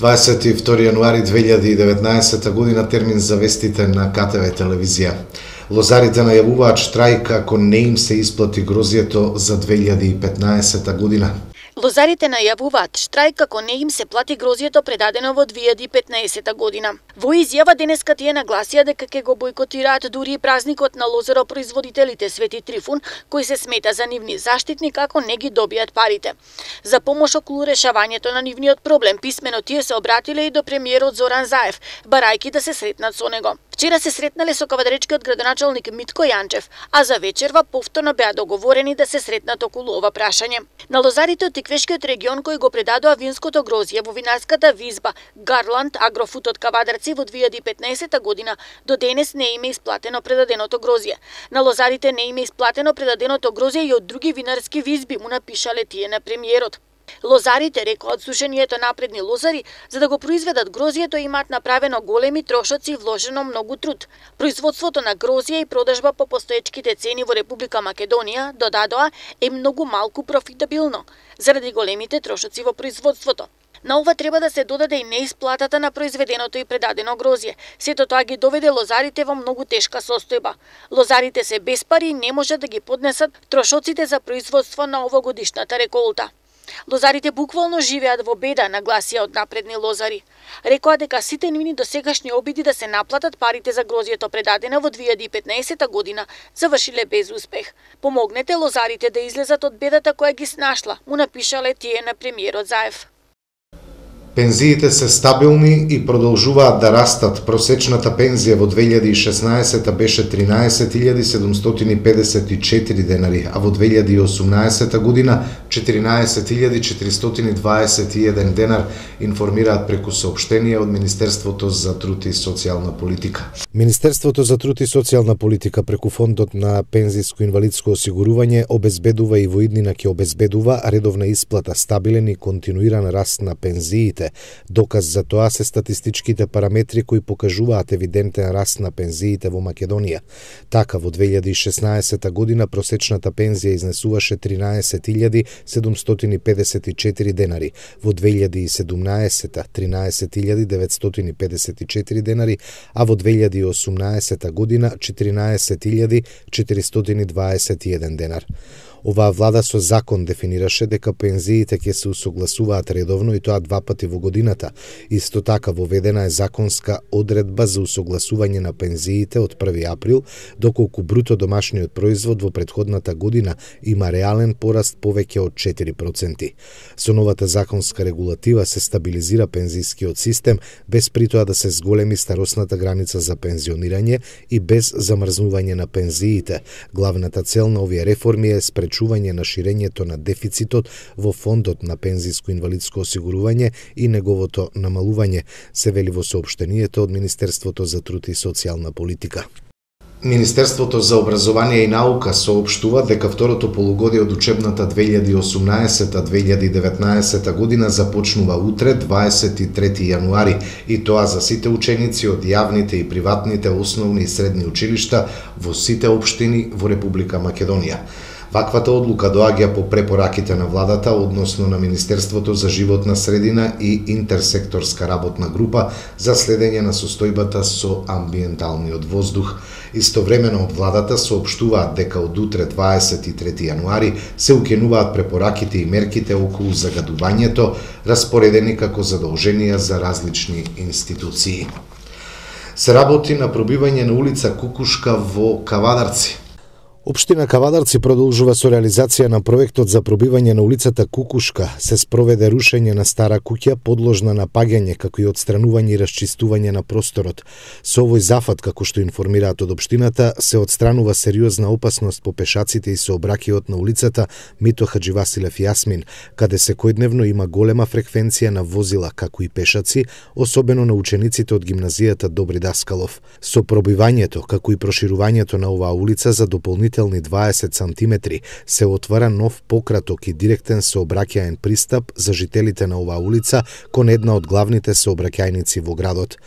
22 јануари 2019 година термин за вестите на КТВ телевизија. Лозарите најавуваат штрајк ако не им се исплати грозието за 2015 година. Лозарите најавуваат штрајк ако не им се плати грозието предадено во 2015 година. Во изјава денеска тие нагласија дека ќе го бойкотираат дури и празникот на лозаропроизводителите Свети Трифун, кој се смета за нивни заштитник ако не ги добијат парите. За помош околу решавањето на нивниот проблем писмено тие се обратиле и до премиерот Зоран Заев, барајки да се сретнат со него. Вчера се сретнале со кавадаречкиот градоначалник Митко Јанчев, а за вечерва повторно беа договорени да се сретнат околу ова прашање. На лозарите од Тиквешкиот регион кои го предадоа винското грозје во винарската визба Гарланд Агрофуд од Кавадарци во 2015 година до денес не им е исплатено предаденото грозје. На лозарите не им е исплатено предаденото грозје и од други винарски визби, му напишале тие на премиерот. Лозарите, рекоат сушенијето напредни лозари, за да го произведат грозието имаат направено големи трошоци и вложено многу труд. Производството на грозие и продажба по постоечките цени во Република Македонија, додадоа, е многу малку профитабилно, заради големите трошоци во производството. На ова треба да се додаде и неисплатата на произведеното и предадено грозие. Сето тоа ги доведе лозарите во многу тешка состојба. Лозарите се без пари и не можат да ги поднесат трошоците за производство на овогодишната реколта. Лозарите буквално живеат во беда, нагласија од напредни лозари. Рекоа дека сите нивни досегашни обиди да се наплатат парите за грозието предадено во 2015 година завршиле без успех. Помогнете лозарите да излезат од бедата која ги снашла, му напишале тие на премиерот Заев. Пензиите се стабилни и продолжуваат да растат. Просечната пензија во 2016 беше 13.754 денари, а во 2018 година 14.421 денар, информираат преку соопштение од Министерството за труд и социјална политика. Министерството за труд и социјална политика преку Фондот на пензиско-инвалидско осигурување обезбедува и во иднина ќе обезбедува редовна исплата, стабилен и континуиран раст на пензиите. Доказ за тоа се статистичките параметри кои покажуваат евидентен раст на пензиите во Македонија. Така во 2016 година просечната пензија изнесуваше 13.754 денари, во 2017 13.954 денари, а во 2018 година 14.421 денар. Оваа влада со закон дефинираше дека пензиите ќе се усогласуваат редовно и тоа 2 пати во годината. Исто така воведена е законска одредба за усогласување на пензиите од 1 април, доколку бруто домашниот производ во претходната година има реален пораст повеќе од 4%. Со новата законска регулатива се стабилизира пензискиот систем без при тоа да се зголеми старосната граница за пензионирање и без замрзнување на пензиите. Главната цел на овие реформи е спречување на ширењето на дефицитот во Фондот на пензиско-инвалидско осигурување и неговото намалување, се вели во соопштението од Министерството за труд и социјална политика. Министерството за образование и наука соопштува дека второто полугодие од учебната 2018-2019 година започнува утре, 23 јануари, и тоа за сите ученици од јавните и приватните основни и средни училишта во сите општини во Република Македонија. Ваквата одлука доаѓа по препораките на владата, односно на Министерството за животна средина и интерсекторска работна група за следење на состојбата со амбиенталниот воздух. Истовремено од владата соопштуваат дека од утре 23 јануари се укинуваат препораките и мерките околу загадувањето, распоредени како задолженија за различни институции. Се работи на пробивање на улица Кукушка во Кавадарци. Општина Кавадарци продолжува со реализација на проектот за пробивање на улицата Кукушка. Се спроведе рушење на стара куќа подложна на паѓање, како и отстранување и расчистување на просторот. Со овој зафат, како што информираат од општината, се отстранува сериозна опасност по пешаците и сообраќајот на улицата Мито Хаџивасилев Јасмин, каде секојдневно има голема фреквенција на возила, како и пешаци, особено на учениците од гимназијата Добри Даскалов. Со пробивањето, како и проширувањето на оваа улица за дополнителни 20 сантиметри, се отвара нов пократок и директен сообраќаен пристап за жителите на оваа улица кон една од главните сообраќајници во градот.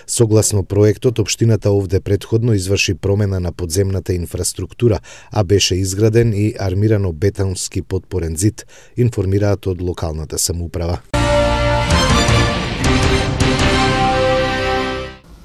Согласно проектот, општината овде претходно изврши промена на подземната инфраструктура, а беше изграден и армирано бетонски подпорен зид, информираат од локалната самоуправа.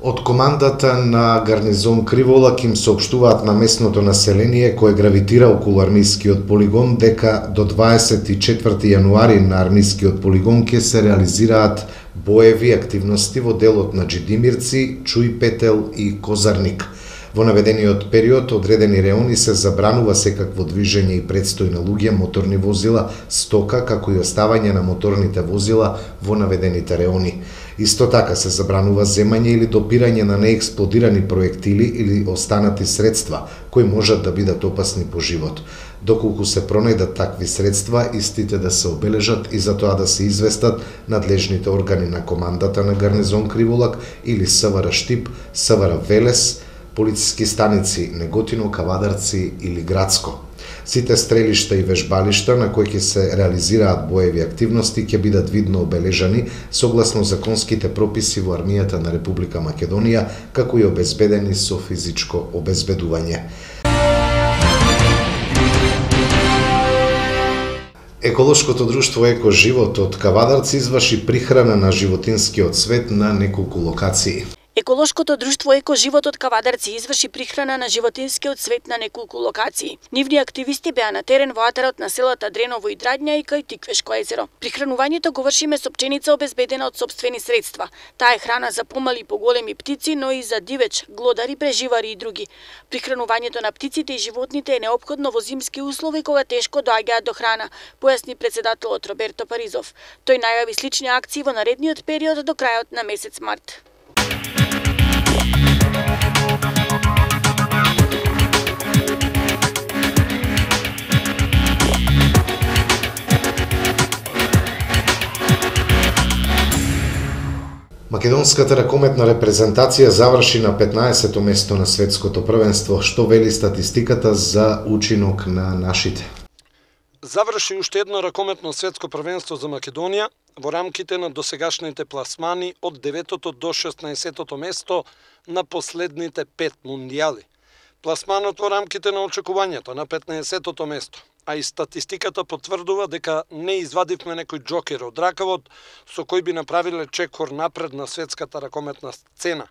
Од командата на гарнизон Криволак им соопштуваат на местното население кое гравитира околу армискиот полигон дека до 24 јануари на армискиот полигон ќе се реализираат боеви активности во делот на Джидимирци, Чуј Петел и Козарник. Во наведениот период одредени реони се забранува секакво движење и предстој на луѓе, моторни возила, стока, како и оставање на моторните возила во наведените реони. Исто така се забранува земање или допирање на неексплодирани проектили или останати средства, кои можат да бидат опасни по живот. Доколку се пронајдат такви средства, истите да се обележат и за тоа да се известат надлежните органи на командата на гарнизон Криволак или СВР Штип, СВР Велес, полициски станици Неготино, Кавадарци или Градско. Сите стрелишта и вежбалишта на кои ќе се реализираат боеви активности ќе бидат видно обележани согласно законските прописи во армијата на Република Македонија, како и обезбедени со физичко обезбедување. Еколошкото друштво Еко Живот од Кавадарци изврши прихрана на животинскиот свет на неколку локации. Еколошкото друштво Еко Живот од Кавадарци изврши прихрана на животинскиот свет на неколку локации. Нивни активисти беа на терен во атарот на селата Дреново и Драдња и кај Тиквешко езеро. Прихранувањето го вршиме со пченица обезбедена од сопствени средства. Таа е храна за помали и поголеми птици, но и за дивеч, глодари, преживари и други. Прихранувањето на птиците и животните е неопходно во зимски услови кога тешко доаѓаат до храна, појасни претседателот Роберто Паризов. Тој најави слични акции во наредниот период до крајот на месец март. Македонската ракометна репрезентација заврши на 15-то место на светското првенство, што вели статистиката за учинок на нашите. Заврши уште едно ракометно светско првенство за Македонија во рамките на досегашните пласмани од 9-то до 16-то место на последните 5 мундијали. Пласманот во рамките на очекувањето на 15-то место, а и статистиката потврдува дека не извадивме некој џокер од ракавот со кој би направиле чекор напред на светската ракометна сцена.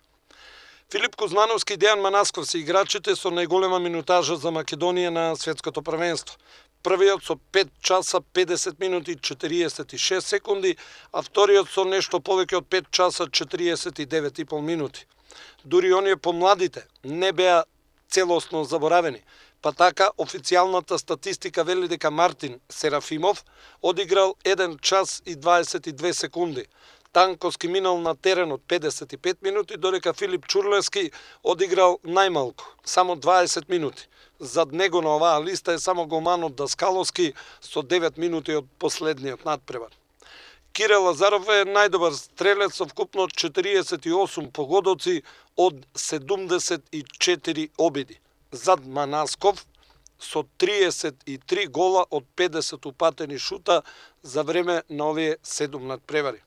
Филип Кузмановски и Дејан Манасков се играчите со најголема минутажа за Македонија на светското првенство. Првиот со 5 часа 50 минути и 46 секунди, а вториот со нешто повеќе од 5 часа 49,5 минути. Дури оние помладите не беа целосно заборавени, па така официјалната статистика вели дека Мартин Серафимов одиграл 1 час и 22 секунди. Танковски минал на теренот 55 минути, додека Филип Чурлески одиграл најмалку, само 20 минути. Зад него на оваа листа е само голманот Даскаловски со 9 минути од последниот надпревар. Кире Лазаров е најдобар стрелец со вкупно 48 погодоци од 74 обиди. Зад Манасков со 33 гола од 50 упатени шута за време на овие 7 надпревари.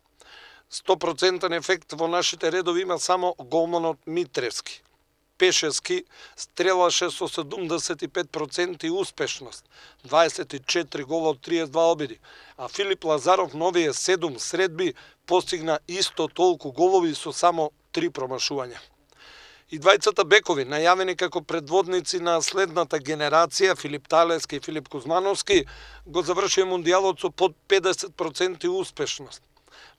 100% ефект во нашите редови има само голманот Митревски. Пешески стрелаше со 75% успешност, 24 гола од 32 обиди, а Филип Лазаров новие 7 средби постигна исто толку голови со само 3 промашувања. И двајцата бекови, најавени како предводници на следната генерација, Филип Талески и Филип Кузмановски, го завршија мундијалот со под 50% успешност.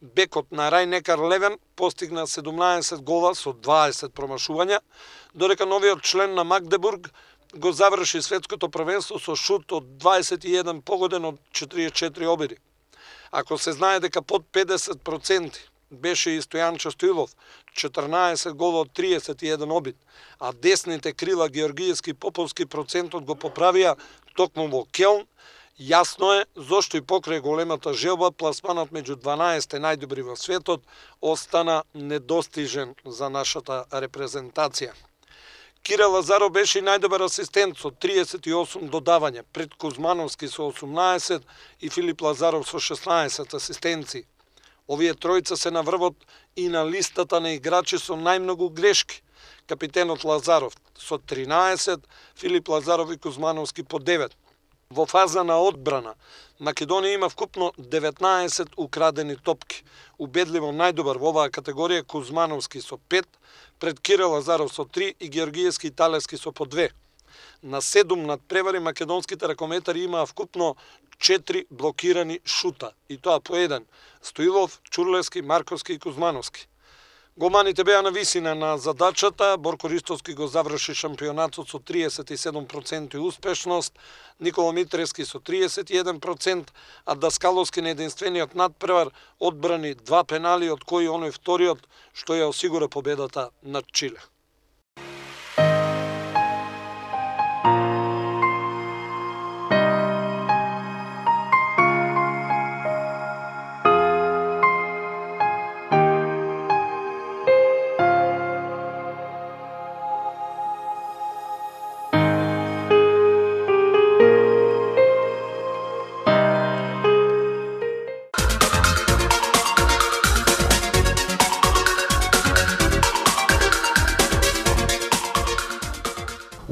Бекот на Рајнекар Левен постигна 17 гола со 20 промашувања, додека новиот член на Магдебург го заврши светското првенство со шут од 21 погоден од 44 обиди. Ако се знае дека под 50% беше и Стојанчо Стоилов, 14 гола од 31 обид, а десните крила Георгиевски и Поповски процентот го поправија токму во Келн, јасно е зошто и покрај големата желба пласманот меѓу 12 најдобри во светот остана недостижен за нашата репрезентација. Кире Лазаров беше и најдобар асистент со 38 додавања, пред Кузмановски со 18 и Филип Лазаров со 16 асистенции. Овие тројца се на врвот и на листата на играчи со најмногу грешки. Капитенот Лазаров со 13, Филип Лазаров и Кузмановски по 9. Во фаза на одбрана, Македонија има вкупно 19 украдени топки. Убедливо најдобар во оваа категорија Кузмановски со 5, пред Кирил Лазаров со 3 и Георгиевски и Талевски со по 2. На 7 надпревари македонските ракометари имаа вкупно 4 блокирани шута, и тоа по 1. Стоилов, Чурлевски, Марковски и Кузмановски. Голманите беа на висина на задачата. Борко Ристовски го заврши шампионатот со 37% успешност, Никола Митревски со 31%, а Даскаловски на единствениот надпревар одбрани 2 пенали, од кои оној вториот што ја осигура победата над Чиле.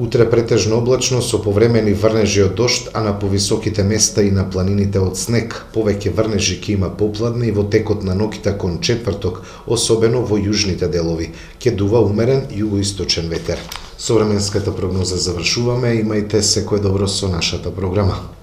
Утре претежно облачно со повремени врнежи од дожд, а на повисоките места и на планините од снег. Повеќе врнежи ќе има попладне и во текот на ноќта кон четврток, особено во јужните делови. Ќе дува умерен југоисточен ветер. Со временската прогноза завршуваме, имајте секое добро со нашата програма.